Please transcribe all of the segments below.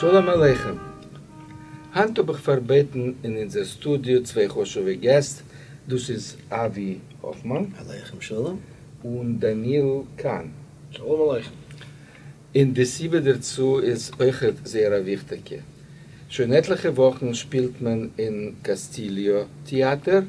שלום עליכם! היינט האב איך פארבעטן אין אונזער סטודיאו צוויי חשוב'ע געסט, דאס איז אבי האפמאן. עליכם שלום. און דניאל קאהן. שלום עליכם. און די סיבה דערצו איז אויכעט זייער א וויכטיגע. שוין עטליכע וואכן שפילט מען אין קאסטיליאו טעאטער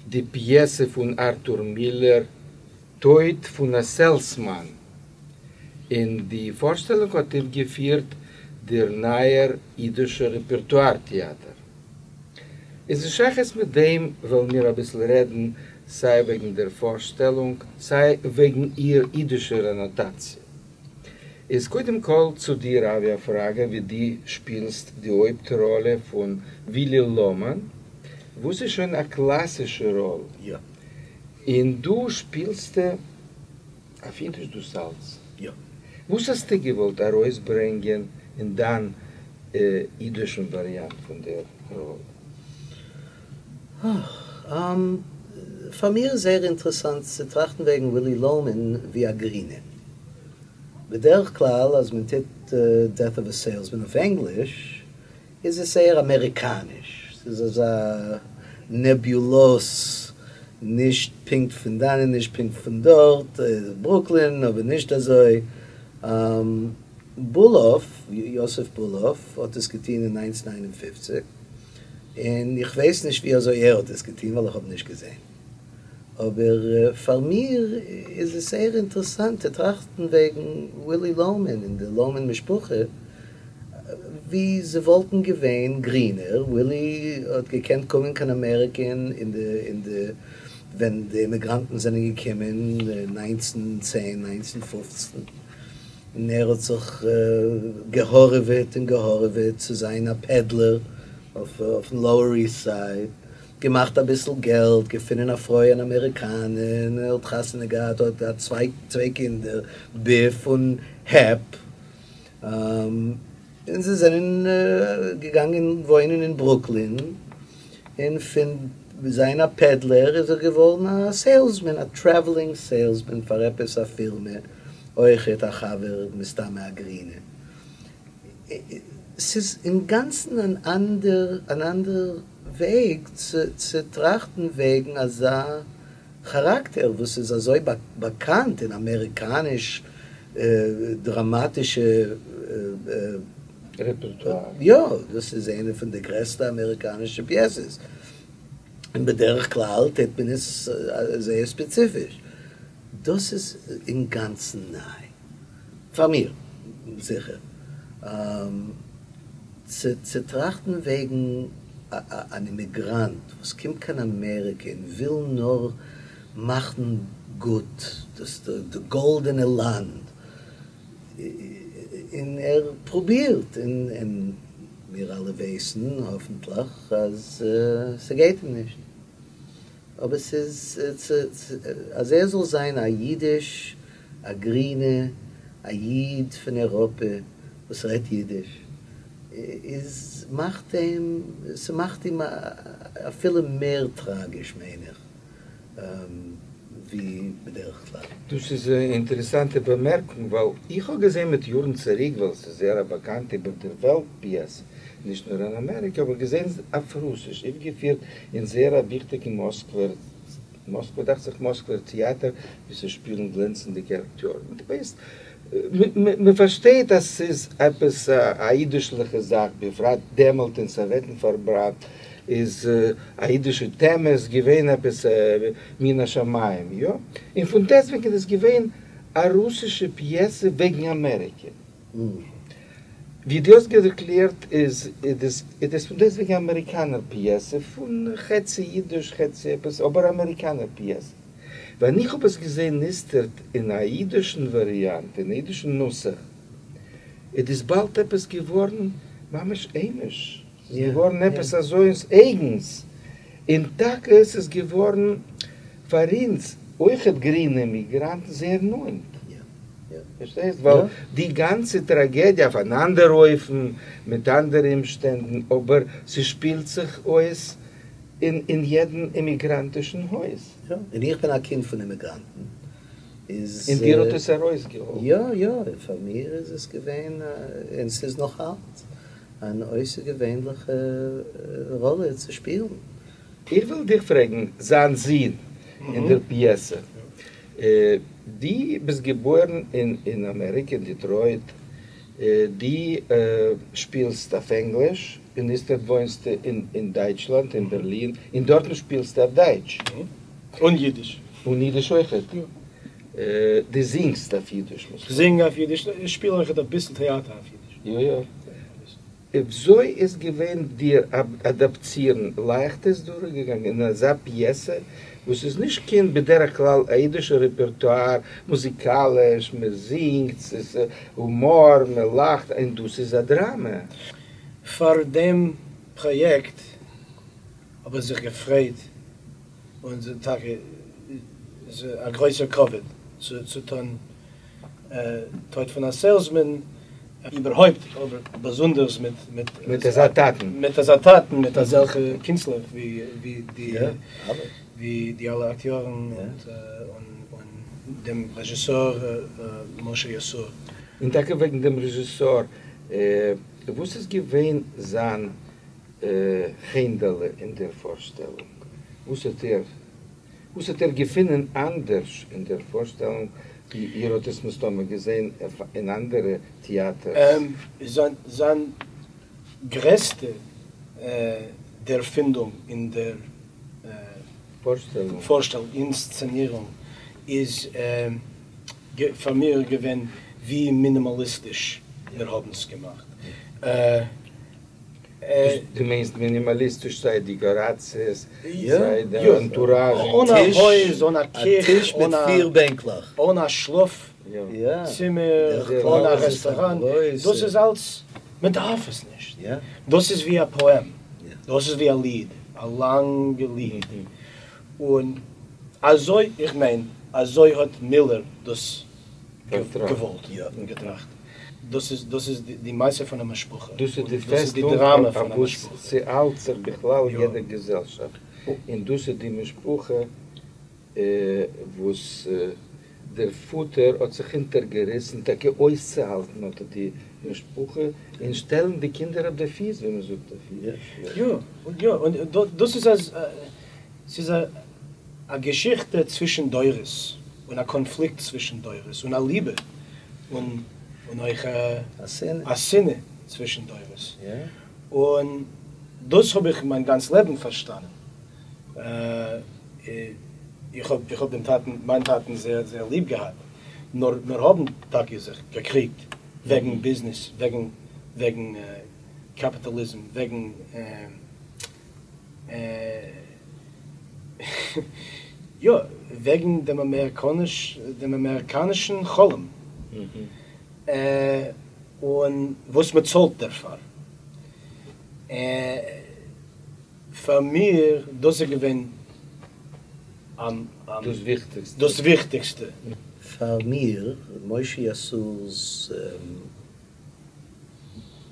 די פיעסע פון ארטור מילער טויט פון א סעילסמאן, און די פארשטעלונג האט אויפגעפירט דער נייער אידישער רעפערטואר טעאטער. איז אין שייכות מיט דעם וועלן מיר אביסל רעדן סיי וועגן דער פארשטעלונג סיי וועגן איר אידישער אנאטאציע. איז קודם כל צו דיר אבי א פראגע ווי דו שפילסט די הויפט ראלע פון ווילי לאמאן וואס איז שוין א קלאסישע ראל. יא. און דא שפילסטו אויף אידיש דאס אלץ. יא. וואס האסטו געוואלט ארויסברענגען אין דיין אידישן וואריאנט פון דער ראל? פאר מיר איז זייער אינטערעסאנט צו טראכטן וועגן ווילי לאומען ווי א גרינע. בדרך כלל אז מען טוט Death of a Salesman אויף ענגליש איז עס זייער אמעריקאניש, ס'איז אזא נעבולאוס, נישט פונקט פון דאנען נישט פונקט פון דארט, ברוקלין אבער נישט אזוי. בולאוו, יוסף בולאוו, האט עס געטון אין 1959, און איך ווייס נישט ווי אזוי ער האט עס געטון ווייל איך האב נישט געזען. אבער פאר מיר איז עס זייער אינטערעסאנט צו טראכטן וועגן ווילי לאומען און די לאומען משפחה ווי זיי וואלטן געווען גרינער, ווילי האט געקענט קומען קיין אמעריקע אין די אין די ווען די אימיגראנטן זענען געקומען 1910 1915 און ער האט זיך געהארעוועט און געהארעוועט צו זיין א פעדלער אויפן לאוער איסט סייד. געמאכט אביסל געלט, געפונען א פרוי אן אמעריקאנע, און ער האט חתונה געהאט, האט געהאט צוויי קינדער, ביף און העפ, און זיי זענען געגאנגען וואוינען אין ברוקלין, און פון זיין א פעדלער איז ער געווארן א סעילסמען, א טרעוולינג סעילסמען פאר עפעס א פירמע, אויכעט א חבר מסתמא א גרינע. ס'איז אינגאנצן אן אנדער אן אנדער וועג צו טראכטן וועגן אזא כאראקטער וואס איז אזוי באקאנט אין אמעריקאניש דראמאטישע רעפערטואר. יא, דאס איז איינע פון די גרעסטע אמעריקאנישע פיעסעס, און בדרך כלל טוט מען עס זייער ספעציפיש. דאס איז אינגאנצן ניי. פאר מיר, זיכער. צו טראכטן וועגן אן אימיגראנט וואס קומט קיין אמעריקע און וויל נאר מאכן גוט דאס די גאלדענע לאנד, און ער פרובירט, און מיר אלע ווייסן, האפנטליך, אז ס'גייט אים נישט. אבער ס'איז אז ער זאל זיין א אידיש, א גרינע, א איד פון אייראפע וואס רעדט אידיש, איז מאכט אים, ס'מאכט אים אפילו מער טראגיש מיין איך, ווי בדרך כלל. דאס איז א אינטערעסאנטע באמערקונג, ווייל איך האב געזען מיט יארן צוריק, ווייל ס'איז זייער א באקאנטע איבער דער וועלט פיעסע, נישט נאר אין אמעריקע, האב איך געזען אויף רוסיש, אויפגעפירט אין זייער א וויכטיגן מאסקווער, מאסקווע, דאכט זיך מאסקווער טעאטער, וואו ס'שפילן גלענצנדיגע אקטיארן. דו ווייסט, מ'פארשטייט אז ס'איז עפעס א אידישליכע זאך, בפרט דעמאלט אין סאוועטן פארבאנד איז א אידישע טעמע איז געווען עפעס מן השמים, יא? און פון דעסטוועגן איז געווען א רוסישע פיעסע וועגן אמעריקע. ווי דו האסט ערקלערט איז עס פון דעסטוועגן אמעריקאנער פיעסע, פון חצי אידיש חצי עפעס, אבער אמעריקאנער פיעסע. ווען איך האב עס געזען איצטערט אין א אידישן וואריאנט, אין א אידישן נוסח, איז דאס באלד עפעס געווארן ממש היימיש, ס'איז געווארן עפעס אזוינס אייגנס, און טאקע עס איז געווארן פאר אונז אויכעט גרינע אימיגראנטן זייער נאענט. פארשטייסט? ווייל די גאנצע טראגעדיע אויף אן אנדער אופן, מיט אנדערע אומשטענדן, אבער ס'שפילט זיך אויס אין יעדן אימיגראנטישן הויז. יא, און איך בין א קינד פון אימיגראנטן. איז. און דיר האט עס ארויסגעהאלפן? יא יא, פאר מיר איז עס געווען, און ס'איז נאך אלץ, אן אויסערגעווענליכע ראלע צו שפילן. איך וויל דיך פרעגן, זיין זון אין דער פיעסע, דו ביסט געבוירן אין אמעריקע, אין דעטרויט, דו שפילסט אויף ענגליש, און איצטערט וואוינסטו אין דייטשלאנד, אין בערלין, און דארטן שפילסטו אויף דייטש. און אידיש. און אידיש אויכעט. דו זינגסט אויף אידיש. איך זינג אויף אידיש, איך שפיל אויכעט אביסל טעאטער אויף אידיש. יא יא. וויאזוי איז געווען דיר אדאפטירן? לייכט איז דורכגעגאנגען אין אזא פיעסע וואס איז נישט קיין בדרך כלל א אידישע רעפערטואר, מוזיקאליש, מען זינגט, ס'איז הומאר, מען לאכט, און דאס איז א דראמע. פאר דעם פראיעקט האב איך זיך געפרייט און ס'איז טאקע א גרויסער כבוד צו טון טויט פון א סעילסמען, איבערהויפט אבער באזונדערס מיט מיט אזא טאטן. מיט אזא טאטן, מיט אזעלכע קינסטלער ווי די ווי די אלע אקטיארן און דעם רעזשיסאר משה יסעור. און טאקע וועגן דעם רעזשיסאר, וואס איז געווען זיין חנ'דעלע אין דער פארשטעלונג? וואס האט ער וואס האט ער געפונען אנדערש אין דער פארשטעלונג ווי איר האט עס מסתמא געזען אין אנדערע טעאטערס? זיין גרעסטע דערפינדונג אין דער פארשטעלונג, אינסצענירונג, איז פאר מיר געווען ווי מינימאליסטיש מיר האבן עס געמאכט. דו מיינסט מינימאליסטיש סיי דעקאראציעס, סיי די אנטוראזש? אן א הויז, אן א קיך, טיש מיט פיר בענקלעך, אן א שלאף צימער, אן א רעסטאראן, דאס איז אלץ, מען דארף עס נישט, דאס איז ווי א פאעם, דאס איז ווי א ליד, א לאנגע ליד, און אזוי, איך מיין, אזוי האט מילער דאס געוואלט און געטראכט. דאס איז דאס איז די מעשה פון א משפחה. דאס איז די פעסטונג אויף וואס ס'האלט זיך בכלל יעדע געזעלשאפט, און דאס איז די משפחה וואס דער פאטער האט זיך אונטערגעריסן טאקע אויסצוהאלטן אט די משפחה און שטעלן די קינדער אויף די פיס ווי מ'זאגט אויף אידיש. יא, יא, און דאס איז אז ס'איז א געשיכטע צווישן דורות, און א קאנפליקט צווישן דורות, און א ליבע, און אויך א שנאה צווישן דורות. און דאס האב איך מיין גאנץ לעבן פארשטאנען. איך האב דעם טאטן, מיין טאטן זייער זייער ליב געהאט, נאר מיר האבן טאקע זיך געקריגט וועגן ביזנעס, וועגן קאפיטאליזם, וועגן. יא, וועגן דעם אמעריקאניש, דעם אמעריקאנישן חלום, און וואס מען צאלט דערפאר. פאר מיר דאס איז געווען דאס וויכטיגסטע. דאס וויכטיגסטע. פאר מיר, משה יסעור'ס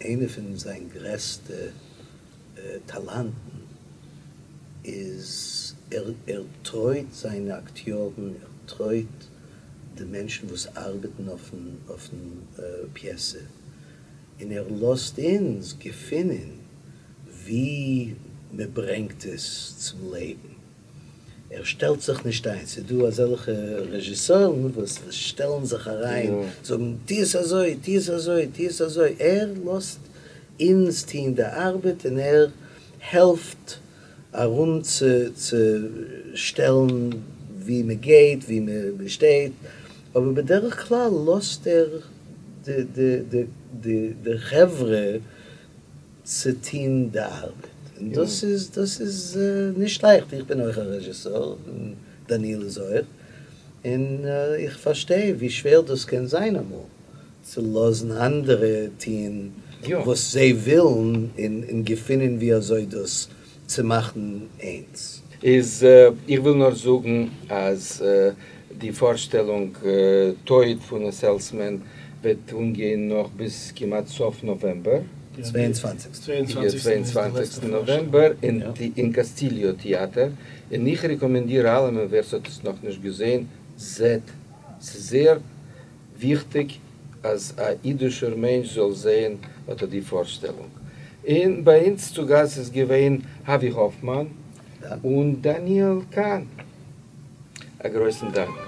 איינע פון זיין גרעסטע טאלאנטן איז ער ער טרויט זיינע אקטיארן, ער טרויט די מענטשן וואס ארבעטן אויפן אויפן פיעסע, און ער לאזט אונז געפינען ווי מען ברענגט עס צום לעבן. ער שטעלט זיך נישט איין, ס'איז דא אזעלכע רעזשיסארן וואס שטעלן זיך אריין, זאגן טו עס אזוי, טו עס אזוי, טו עס אזוי, ער לאזט אונז טון די ארבעט און ער העלפט ארום צו צו שטעלן ווי מען גייט, ווי מען שטייט, אבער בדרך כלל לאזט ער די די די די חברה צו טוהן די ארבעט, און דאס איז דאס איז נישט לייכט, איך בין אויך א רעזשיסאר, און דניאל איז אויך, און איך פארשטיי ווי שווער דאס קען זיין אמאל, צו לאזן אנדערע טוהן וואס זיי ווילן, און געפינען ווי אזוי דאס צו מאכן איינס. איז איך וויל נאר זאגן אז די פארשטעלונג טויט פון א סעילסמען וועט אנגיין נאך ביז כמעט סוף נאוועמבער. צוויי און צוואנציגסטן. צוויי און צוואנציגסטן נאוועמבער אין קאסטיליאו טעאטער, און איך רעקאמענדיר אלעמען ווער ס'האט עס נאכנישט געזען, זעט. ס'איז זייער וויכטיג אז א אידישער מענטש זאל זעהן אט די פארשטעלונג. און ביי אונז צו גאסט איז געווען אבי האפמאן און דניאל קאהן. א גרויסן דאנק.